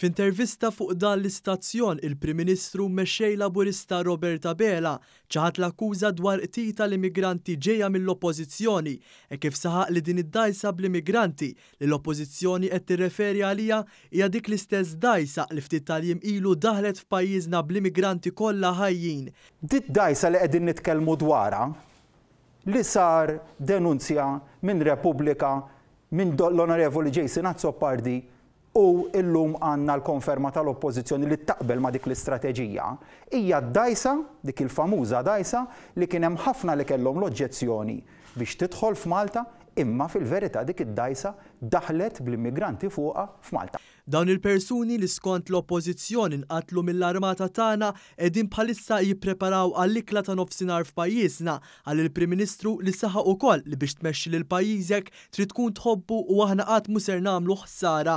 F'intervista fuq dan l-istazzjon, il-Prim Ministru u Mexxej Laburista Robert Abela ċaħad l-akkuża dwar qtil tal-immigranti ġejja mill-Oppożizzjoni hekk kif saħaq li din id-dgħajsa bl-immigranti li l-Oppożizzjoni qed tirreferi għaliha hija dik l-istess dgħajsa li ftit tal-jiem ilu daħlet f'pajjiżna bl-immigranti kollha ħajjin. Did-dgħajsa li qegħdin nitkellmu dwarha li sar denunzja minn Repubblika minn l-Onorevoli Jason Azzopardi u llum għandna l-konferma tal-Oppożizzjoni li taqbel ma' dik l-istrateġija, hija d-dgħajsa, dik il-famuża dgħajsa li kien hemm ħafna li kellhom l-oġġezzjoni biex tidħol f'Malta, imma fil-verità dik id-dgħajsa daħlet bl-immigranti fuqha f'Malta. Dawn il-persuni li skont l-Oppożizzjoni nqatlu mill-armata tagħna qegħdin bħalissa jippreparaw għall-ikla ta' nofsinhar f'pajjiżna, qal il-Prim Ministru li saħaq ukoll li biex tmexxi lil pajjiżek trid tkun tħobbu u aħna qatt mhu ser nagħmlu ħsara.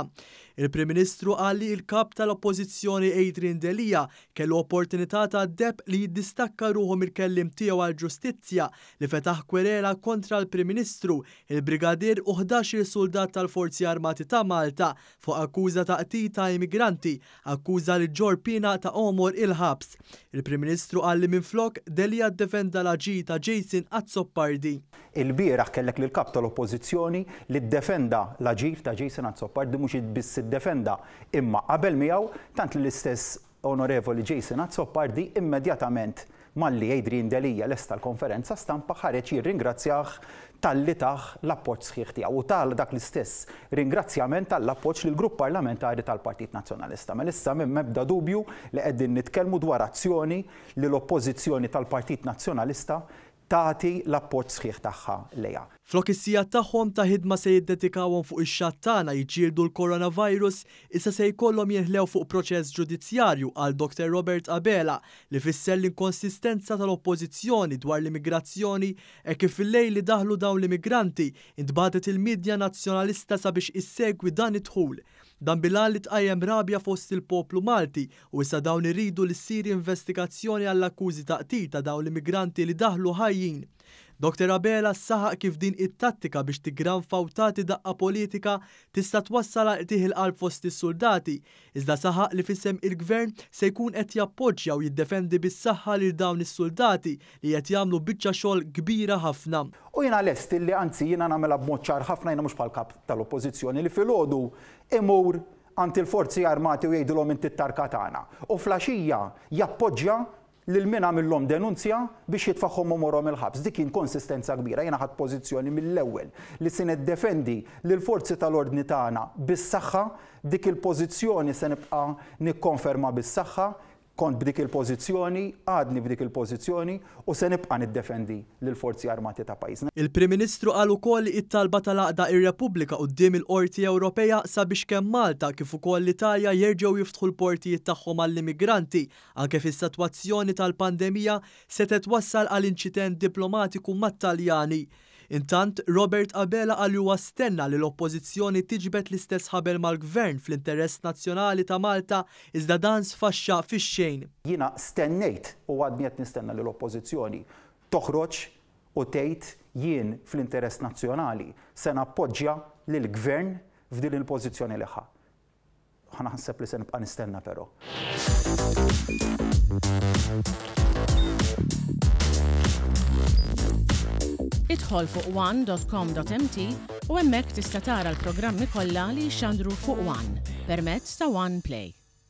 Il-Prim Ministru qal li l-Kap tal-Oppożizzjoni Adrian Delia kellu opportunità tad-deheb li jiddistakka ruħu mill-kelliem tiegħu għall-ġustizzja li fetaħ kwerela kontra l-Prim Ministru, il-Brigadier u ħdax-il suldat tal-Forzi Armati ta' Malta fuq akkuża ta' qtil ta' immigranti, akkuża li ġġorr piena ta' għomor il-ħabs. Il-Prim Ministru qal li minflok, Delia ddefenda l-aġir ta' Jason Azzopardi. Ilbieraħ kellek lill-Kap tal-Oppożizzjoni li ddefenda l-aġir ta' Jason Azzopardi, mhux biss iddefenda imma qabel miegħu, tant li l-istess Onorevoli Jason Azzopardi immedjatament malli Adrian Delia lesta l-konferenza stampa ħareġ jirringrazzjah talli tah l-appoġġ sħiħ tiegħu u ta dak l-istess ringrazzjament għall-appoġġ lill-Grupp Parlamentari tal-Partit Nazzjonalista. Mela issa m'hemm ebda dubju li qegħdin nitkellmu dwar azzjoni li l-Oppożizzjoni tal-Partit Nazzjonalista tagħti l-appoġġ sħiħ tagħha lejha. Flok is-sigħat tagħhom ta' ħidma se jiddedikawhom fuq ix-xatt tagħna jiġġieldu l-coronavirus, issa se jkollhom jinħlew fuq proċess ġudizzjarju, qal Doctor Robert Abela, li fisser l-inkonsistenza tal-Oppożizzjoni dwar l-immigrazzjoni hekk kif fil-lejl li daħlu dawn l-immigranti, intbagħtet il-midja Nazzjonalista sabiex issegwi dan id-dħul. Dan bil-għan li tqajjem rabja fost il-poplu Malti u issa dawn iridu li ssir investigazzjoni għall-akkużi ta' qtil ta' dawn l-immigranti li daħlu ħajjin. Doctor Abela saħaq kif din it-tattika biex tiggranfa u tagħti daqqa politika tista' twassal għal qtigħ il-qalb fost is-suldati, iżda saħaq li f'isem il-Gvern se jkun qed jappoġġja u jiddefendi bis-saħħa lil dawn is-suldati li qed jagħmlu biċċa xogħol kbira ħafna. U jiena lest illi anzi jiena nagħmilha b'mod ċar ħafna jiena mhux bħall-Kap tal-Oppożizzjoni li filgħodu imur għand il-Forzi Armati u jgħidilhom inti t-tarka tagħna. U fl-għaxija jappoġġja lil min għamillhom denunzja biex jitfagħhom għomorhom il-ħabs. Dik hi inkonsistenza kbira. Jiena ħadt pożizzjoni mill-ewwel li se niddefendi lill-forzi tal-ordni tagħna bis-saħħa. Dik il-pożizzjoni se nibqa' nikkonferma bis-saħħa. Kont b'dik il-pożizzjoni, għadni f'dik il-pożizzjoni u se nibqa' niddefendi lill-Forzi Armati ta' pajjiżna. Il-Prim Ministru qal ukoll li t-talba tal-għaqda Ir-Repubblika quddiem il-Qorti Ewropea sabiex kemm Malta kif ukoll l-Italja jerġgħu jiftħu l-portijiet tagħhom għall-immigranti anke fis-satwazzjoni tal-pandemija setgħet twassal għal inċident diplomatiku mat-Taljani. Intant, Robert Abela qal li huwa stenna li l-Oppożizzjoni tiġbed l-istess ħabel mal-Gvern fl-interess nazzjonali ta' Malta iżda dan sfaxxa fix-xejn. Jiena stennejt u għadni qed nistenna li l-Oppożizzjoni toħroġ u tgħid jien fl-interess nazzjonali se nappoġġja lill-Gvern f'din il-pożizzjoni li ħa. Ħa naħseb li se nibqa' nistenna però. Idħol fuq one.com.mt u hemmhekk tista' tara l-programmi kollha li jixxandru fuq One permezz ta' One Play.